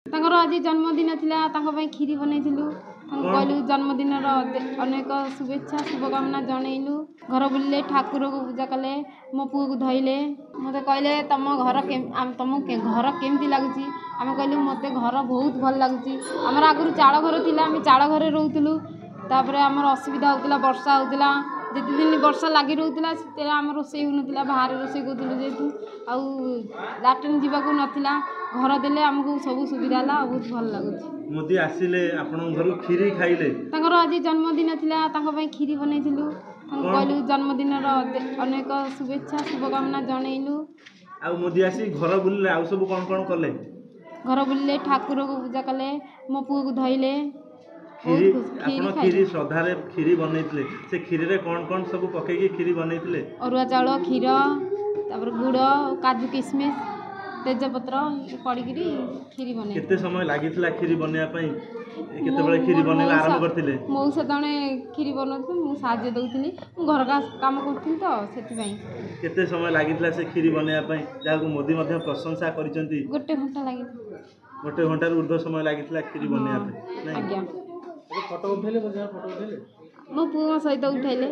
ତାଙ୍କର ଆଜି ଜନ୍ମଦିନ ଥିଲା, ତାଙ୍କ ପାଇଁ କ୍ଷୀରି ବନେଇଥିଲୁ। ତାଙ୍କୁ କହିଲୁ ଜନ୍ମଦିନର ଅନେକ ଶୁଭେଚ୍ଛା ଶୁଭକାମନା ଜଣେଇଲୁ। ଘର ବୁଲିଲେ, ଠାକୁରକୁ ପୂଜା କଲେ, ମୋ ପୁଅକୁ ଧଇଲେ। ମୋତେ କହିଲେ ତୁମ ଘର, ତୁମକୁ ଘର କେମିତି ଲାଗୁଛି? ଆମେ କହିଲୁ ମୋତେ ଘର ବହୁତ ଭଲ ଲାଗୁଛି। ଆମର ଆଗରୁ ଚାଳ ଘର ଥିଲା, ଆମେ ଚାଳ ଘରେ ରହୁଥିଲୁ। ତାପରେ ଆମର ଅସୁବିଧା ହେଉଥିଲା, ବର୍ଷା ହେଉଥିଲା। ଯେତେ ଦିନ ବର୍ଷା ଲାଗି ରହୁଥିଲା ସେତେବେଳେ ଆମର ରୋଷେଇ ହେଉନଥିଲା, ବାହାରେ ରୋଷେଇ କରୁଥିଲୁ। ଯେହେତୁ ଆଉ ଲାଟ୍ରିନ୍ ଯିବାକୁ ନଥିଲା, ଘର ଦେଲେ ଆମକୁ ସବୁ ସୁବିଧା ହେଲା ଆଉ ବହୁତ ଭଲ ଲାଗୁଛି। ମୋଦି ଆସିଲେ ଆପଣଙ୍କ ଘରୁ, କ୍ଷୀରି ଖାଇଲେ। ତାଙ୍କର ଆଜି ଜନ୍ମଦିନ ଥିଲା, ତାଙ୍କ ପାଇଁ କ୍ଷୀରି ବନେଇଥିଲୁ। ତାଙ୍କୁ କହିଲୁ ଜନ୍ମଦିନର ଅନେକ ଶୁଭେଚ୍ଛା ଶୁଭକାମନା ଜଣେଇଲୁ। ଆଉ ମୋଦି ଆସି ଘର ବୁଲିଲେ, ଆଉ ସବୁ କ'ଣ କ'ଣ କଲେ? ଘର ବୁଲିଲେ, ଠାକୁରକୁ ପୂଜା କଲେ, ମୋ ପୁଅକୁ ଧଇଲେ। କ୍ଷୀରି, ଆପଣ କ୍ଷୀରି ଶ୍ରଦ୍ଧାରେ କ୍ଷୀରି ବନେଇଥିଲେ, ସେ କ୍ଷୀରିରେ କ'ଣ କ'ଣ ସବୁ ପକେଇକି କ୍ଷୀରି ବନେଇଥିଲେ? ଅରୁଆ ଚାଉଳ, କ୍ଷୀର, ତାପରେ ଗୁଡ଼, କାଜୁ କିସମିସ୍, ତେଜପତ୍ର ପଡ଼ିକିରି କ୍ଷୀରି ବନେଇ। କେତେ ସମୟ ଲାଗିଥିଲା କ୍ଷୀରି ବନେଇବା ପାଇଁ? କେତେବେଳେ କ୍ଷୀରି ବନେଇବା ଆରମ୍ଭ କରିଥିଲେ? ମଉସା ଜଣେ କ୍ଷୀରି ବନଉଥିଲେ, ମୁଁ ସାହାଯ୍ୟ ଦେଉଥିଲି। ମୁଁ ଘର କାମ କରୁଥିଲି ତ ସେଥିପାଇଁ। କେତେ ସମୟ ଲାଗିଥିଲା ସେ କ୍ଷୀରି ବନେଇବା ପାଇଁ, ଯାହାକୁ ମୋଦି ମଧ୍ୟ ପ୍ରଶଂସା କରିଛନ୍ତି? ଗୋଟେ ଘଣ୍ଟା ଲାଗିଥିଲା। ଗୋଟେ ଘଣ୍ଟାରୁ ଉର୍ଦ୍ଧ୍ୱ ସମୟ ଲାଗିଥିଲା କ୍ଷୀରି ବନେଇବା ପାଇଁ? ଆଜ୍ଞା। ଫଟୋ ଉଠେଇଲେ? ଫଟୋ ଉଠେଇଲେ, ମୋ ପୁଅଙ୍କ ସହିତ ଉଠାଇଲେ।